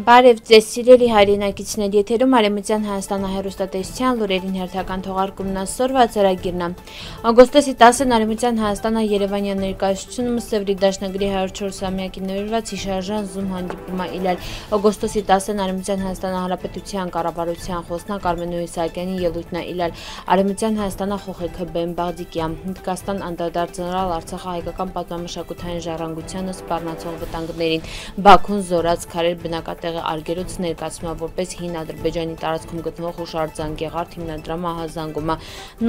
Բարև ձեզ սիրելի հայրենակիցներ, եթերում Արևմտյան Հայաստանը հեռուստատեսության լուրերին հերթական թողարկումն այսօրվա ծրագիրն է։ Օգոստոսի 10-ին Արևմտյան Հայաստանը Երևանյան ներկայացությունը Սևրի դաշնագրի 104-ամյակին նվիրված հիշարժան Zoom հանդիպում է իրար։ Օգոստոսի 10-ին Արևմտյան Հայաստանի Հանրապետության կառավարության խոսնակ Արմեն Իսահակյանի ելույթն է իրար։ Արևմտյան Հայաստանը խոխեքը Բեն Բաղդիկյան, Հնդկաստան անդրադարձնալ Արցախի հայկական պատմամշակութային ժառանգությանը սպառնացող վտանգներին, Բաքուն զորած քարեր բնակատեղի արգելոց ներկայացումը որպես հին Ադրբեջանի տարածքում գտնվող հուշարձան Գեղարդ հիմնադրամը հազանգումը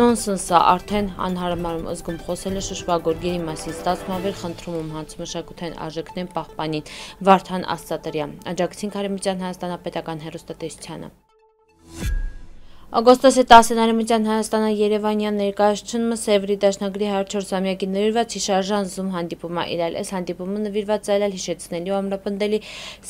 նոնսենս է, արդեն անհարմար զգում խոսելը շշվագորգերի մասին, ստացմավեր խնդրում հանցմշակութային արժեքներն պահպանին, Վարդան Աստատրյան, աջակցին Արևմտյան Հայաստանապետական հեռուստատեսությանը։ Օգոստոսի 10-ին Արևմտյան Հայաստանը Երևանյան ներկայացումը Սևրի դաշնագրի 104-ամյակին նվիրված հիշարժան Zoom հանդիպում է իրար։ Այս հանդիպումը նվիրված է հիշեցնելու ու ամրապնդելի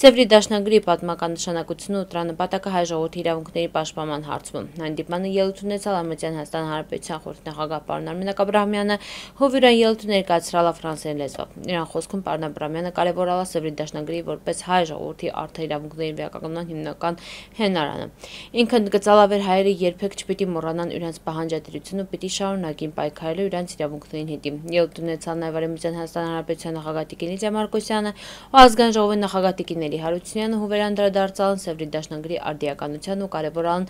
Սևրի դաշնագրի պատմական նշանակությունը ու տրամապատակը հայ ժողովրդի իրավունքների պաշտպանման հարցում։ Հանդիպմանը ելույթ ունեցավ Արևմտյան Հայաստանի Հանրապետության խորհրդի նախագահ պարոն Արմեն Աբրահամյանը, հովիրան ելույթ ներկայացրալ ֆրանսերեն լեզվով։ Իրան խոսքում պարոն Աբրահամյանը կարևորել է Սևրի դաշնագրի որպես հայ ժողովրդի արդար իրավունքների վերականգնման հիմնական հենարանը։ Ինքն գծալավեր հայերը երբեք չպիտի մոռանան իրենց պահանջատիրությունը, պիտի շարունակին պայքարել իրենց իրավունքներին հետի։ Ելույթ ունեցան նաև Արևմտյան Հայաստանի Հանրապետության նախագահ Տիկին Լիդիա Մարկոսյանը ու ազգային ժողովի նախագահ Տիկին Էլի Հարությունյանը, հուվեր անդրադարձան Սևրի դաշնագրի արդիականության ու կարևորան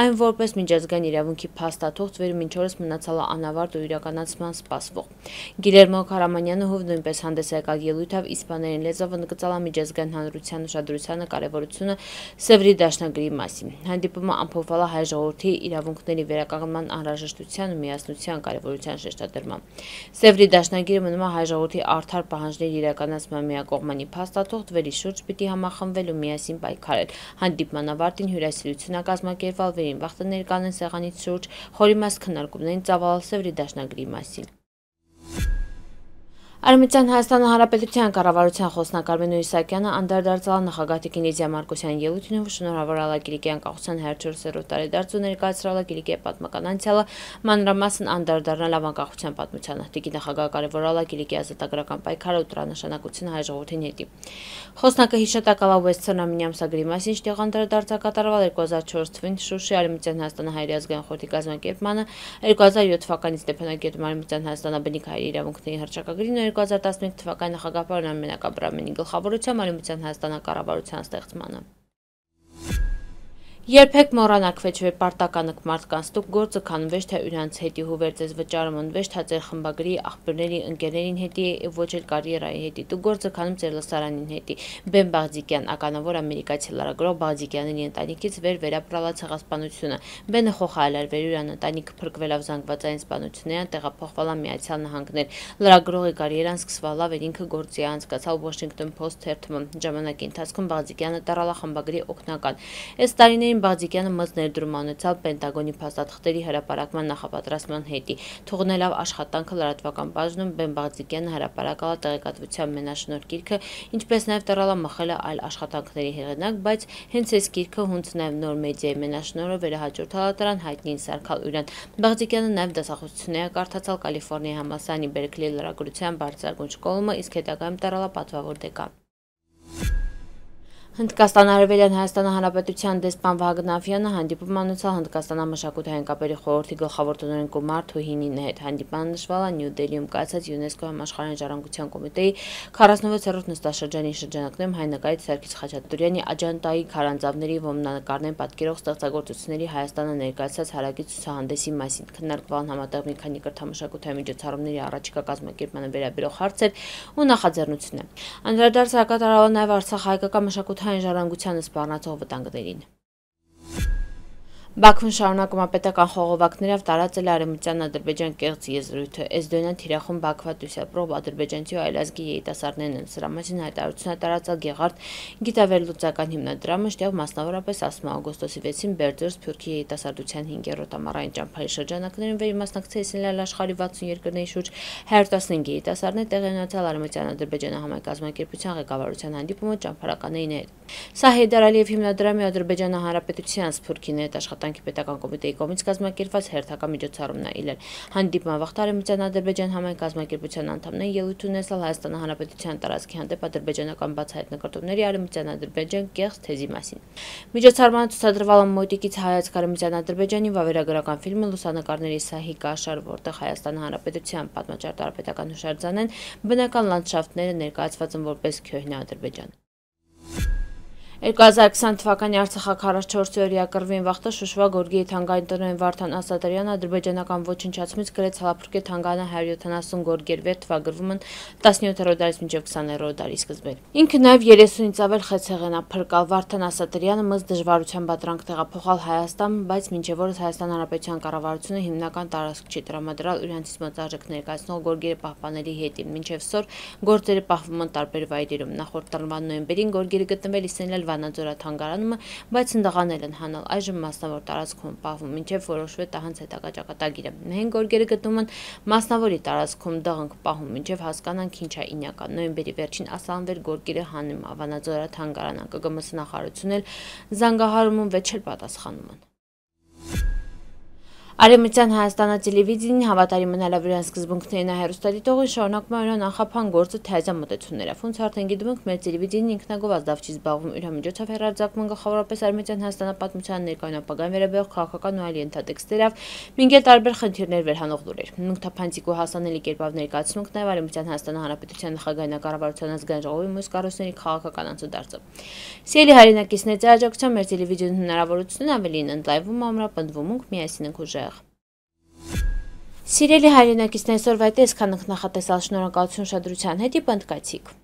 այն որպես միջազգային իրավունքի փաստաթուղթ, վեր մինչ օրս մնացել է անավարտ ու իրականացման սպասվող։ Գիլերմո Քարամանյանը հուվ նույնպես հանդես եկալ ելույթով իսպաներեն լեզվով ընդգծալ միջազգային հանրության ուշադրությանը կարևորությունը Սևրի դաշնագրի մասին։ Հանդիպումը ամփոփվել է հայ ժողովրդի իրավունքների վերականգնման անհրաժեշտության ու միասնության կարևորության շեշտադրմամբ։ Սևրի դաշնագիրը մնում է հայ ժողովրդի արդար պահանջների իրականացման միակողմանի փաստաթուղթ, վերի շուրջ պիտի համախմբվել ու միասին պայքարել։ Հանդիպման ավարտին հյուրասիրություն է կազմակերպվել, վերին վաղտը ներկանեն սեղանից շուրջ խորիմաստ քննարկումներին ծավալել Սևրի դաշնագրի մասին։ Արևմտյան Հայաստանի Հանրապետության կառավարության խոսնակ Արմեն Իսահակյանը անդրադարձալ նախագահ Տիկին Լիդիա Մարկոսյանի ելույթին ու շնորհավորել Կիլիկի անկախության 104-րդ տարեդարձ ու ներկայացրել Կիլիկի պատմական անցյալը, մանրամասն անդրադառնալ անկախության պատմությանը։ Տիկին նախագահը կարևորել Կիլիկի ազատագրական պայքարը ու տրամաբանությունը հայ ժողովրդին հետի։ Խոսնակը հիշատակել Western Armenia ամսագրի մասին, շտեղ անդրադարձ կատարվել 2004 թվականին Շուշի Արևմտյան Հայաստանի հայերի ազգային խորհրդի կազմակերպմանը, 2007 թվականի Ստեփանակերտում Արևմտյան Հայաստանի բնիկ հայերի իրավունքների հռչակագրին, 2015 թվականի նախագահ պարոն Արմեն Աբրահամյանի գլխավորությամբ Արևմտյան Հայաստանի կառավարության ստեղծմանը։ Երբեք մոռանաք վեճվեր պարտականք մարդկանց, դուք գործը քանվեշ թե իրանց հետի հուվեր ձեզ վճարում ընվեշ թա ձեր խմբագրի աղբյուրների ընկերներին հետի ոչ էլ կարիերայի հետի, դուք գործը քանում ձեր լսարանին հետի։ Բեն Բաղդիկյան, ականավոր ամերիկացի լրագրող Բաղդիկյանի ընտանիքից վեր վերապրալա ցեղասպանությունը։ Բենը խոխայել վեր իրան ընտանիքը փրկվելով զանգվածային սպանություններին տեղափոխվալա Միացյալ Նահանգներ։ Լրագրողի կարիերան սկսվալա վեր ինքը գործի անցկացավ Washington Post թերթում։ Ժամանակի ընթացքում Բաղդիկյանը տարալա խմբագրի օգնական։ Այս տարիներին Բաղդիկյանը մեծ ներդրում ունեցավ Պենտագոնի փաստաթղթերի հրապարակման նախապատրաստման հետի, թողնելով աշխատանքը լրատվական բաժնում Բեն Բաղդիկյանը հրապարակալ տեղեկատվության մենաշնորհ գիրքը, ինչպես նաև տարալա մխել այլ աշխատանքների հեղինակ, բայց հենց այս գիրքը հունց նաև նոր մեդիայի մենաշնորհը վերահաջորդալ դրան հայտնին Սարգալ Ուրյան։ Բաղդիկյանը նաև դասախոսություններ կարդացալ Կալիֆոռնիայի համալսարանի Բերքլի լրագրության բարձրագույն շկոլումը, իսկ հետագայում տարալա պատվավոր դեկան։ Հնդկաստան Արևելյան Հայաստանի Հանրապետության դեսպան Վահագն Աֆյանը հանդիպում անցավ Հնդկաստանամշակութային կապերի խորհրդի գլխավոր տնօրեն Կումար Թուհինին հետ։ Հանդիպանը նշվել է Նյու Դելիում կայացած ՅՈՒՆԵՍԿՕ համաշխարհային ժառանգության կոմիտեի 46-րդ նստաշրջանի շրջանակներում հայ նկարիչ Սարգիս Խաչատուրյանի Աջանտայի քարանձավների ոմնանկարներ պատկերող ստեղծագործությունների Հայաստանը ներկայացած հարակից ցուցահանդեսի մասին։ Քննարկվել համատեղ մի քանի կրթամշակութային միջոցառումների առաջիկա կազմակերպմանը վերաբերող հարցեր ու նախաձեռնություններ։ Անդրադարձ կատարվել նաև Արցախ հայկական մշակութային ժառանգությանը սպառնացող վտանգներին։ Բաքվում շարունակում է պետական խողովակներով տարածել Արևմտյան Ադրբեջան կեղծ եզրույթը։ Էսդոնյան թիրախում Բաքվա դուսյապրով ադրբեջանցի ու այլազգի երիտասարդներն են սրա մասին հայտարարություն տարածել Գեղարդ գիտավերլուծական հիմնադրամը, շտեղ մասնավորապես ասում է օգոստոսի 6-ին Բերձոր Սփյուռքի երիտասարդության 5-րդ ամառային ճամփայի շրջանակներում վերմասնակցեցին աշխարհի 60 երկրների շուրջ 115 երիտասարդներ տեղի ունեցել Արևմտյան Ադրբեջանի համակազմակերպության ղեկավարության հանդիպումը ճամփարականների հետ։ Սա Հեյդար Ալիև հիմնադրամի Ադրբեջանի Հանրապետության Սփյուռքի ներտ աշխատանքի պետական կոմիտեի կողմից կազմակերպված հերթական միջոցառումն է իրել։ Հանդիպման վաղ Արևմտյան Ադրբեջան համայն կազմակերպության անդամներին ելույթ ունեցել Հայաստանի Հանրապետության տարածքի հանդեպ ադրբեջանական բացահայտ նկարտումների Արևմտյան Ադրբեջան կեղծ թեզի մասին։ Միջոցառմանը ցուցադրվել է մոտիկից հայացք Արևմտյան Ադրբեջանի վավերագրական ֆիլմը լուսանկարների Սահիկ Աշար, որտեղ Հայաստանի Հանրապետության պատմաճար տարապետական հուշարձանեն բնական լանդշաֆտները ներկայացված են որպես Քյոհնա Ադրբեջան։ 2020 թվականի Արցախի 44-օրյա կռվին վաղտը Շուշվա Գորգիի թանգարանի տնօրեն Վարդան Ասատրյանը ադրբեջանական ոչնչացումից գրեց հալափրկե թանգարանը 170 գորգեր վեր թվագրվում են 17-րդ դարից մինչև 20-րդ դարի սկզբին։ Ինքը նաև 30-ից ավել խեցեղեն է փրկալ։ Վարդան Ասատրյանը մզ դժվարության պատրանք տեղափոխալ Հայաստան, բայց մինչև օրս Հայաստան Հանրապետության կառավարությունը հիմնական տարածք չի տրամադրել իրանցից մոծարժեք ներկայացնող գորգերը պահպանելի հետին։ Մինչև սոր գործերը պահվում են տարբեր վայրերում։ Նախորդ տարվա նոյեմբերին գորգերը գտնվել Իսենյալ Վանաձորա թանգարանում, բայց ընդդաղանել են հանել։ Այժմ մասնավոր տարածքում պահվում, մինչև որոշվի տահանց հետագա ճակատագիրը։ Մենք գորգերը գտնում են մասնավորի տարածքում դղնք պահում, մինչև հասկանանք ինչ է ինյական։ Նոյեմբերի վերջին ասանվեր գորգերը հանում Վանաձորա թանգարանը, ԿԳՄՍ նախարարությունն էլ զանգահարում վեճ էլ պատասխանում են։ Արևմտյան Հայաստանը տելևիզիային հավատարիմ մնալով իրենց սկզբունքներին հեռուստադիտողին շարունակում է իրեն անխափան գործը թեզա մոտեցումներով։ Ոնց արդեն գիտում ենք, մեր տելևիզիան ինքնագով ազդավ չի զբաղվում իր միջոցով հեռարձակվում գլխավորապես Արևմտյան Հայաստանը պատմության ներկայուն ապագան վերաբերող քաղաքական ու այլ ենթատեքստերով, մինչև տարբեր խնդիրներ վերհանող լուրեր։ Մենք թափանցիկ ու հասանելի կերպով ներկայացնում ենք նաև Արևմտյան Հայաստանի Հանրապետության նախագահի կառավարության ազգային ժողովի մյուս կառույցների քաղաքական անցուդարձը։ Սիրելի հայրենակիցներ, աջակցության մեր տելևիզիոն հնարավորությունն ավելին ընդլայնվում, ամրապնդվում ենք, միասին ենք ուժեղ։ Սիրելի հայրենակիցներ, այսօրվա այդ էսքան ենք նախատեսալ, շնորհակալություն ուշադրության հետ, ի պնդկացիք։